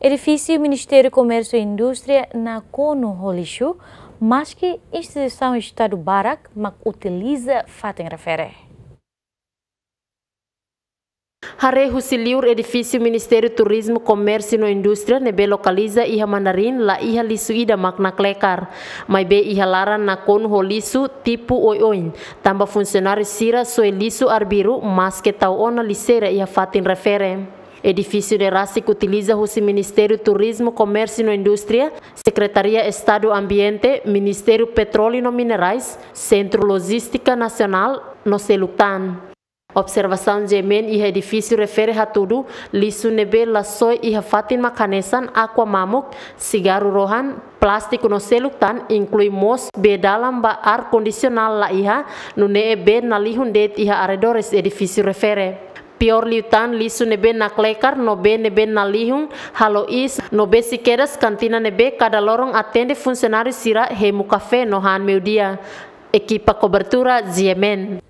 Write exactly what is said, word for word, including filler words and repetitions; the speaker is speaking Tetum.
Edifísiu Ministériu Komérsiu no Indústria nakonu ho lixu, maski instituisaun Estadu barak mak utiliza fatin refere. Haree husi liur, edifísiu Ministériu Turizmu, Komérsiu no Indústria ne'ebé lokaliza iha Mandarin la iha lixu ida mak naklekar. Maibé iha laran nakonu ho lixu tipu oioin, tanba funsionáriu sira soe lixu arbiru maske tau ona lixeira iha fatin refere. Edifísiu ne'e rasik utiliza husi Ministériu Turizmu, Komérsiu no Indústria, Sekretaria Estadu Ambiente, Ministériu Petróleu no Minerais, Sentru Lojístika Nasionál no seluk tan. Observasaun GMN iha edifísiu refere hatudu, lixu ne'ebé la soe iha fatin mak hanesan aqua mamuk, sigarru rohan, plástiku no seluk tan, inklui mós bee dalan ba ar kondisionál la iha, nune'e bee nalihun de'it iha arredores edifísiu refere. Piór liután, lixu ne'ebé naklekar no bee ne'ebé nalihun halo iis no besik kedas kantina ne'ebé kada loron atende funsionáriu sira hemu kafé no han meiudia. Ekipa kobertura GMN.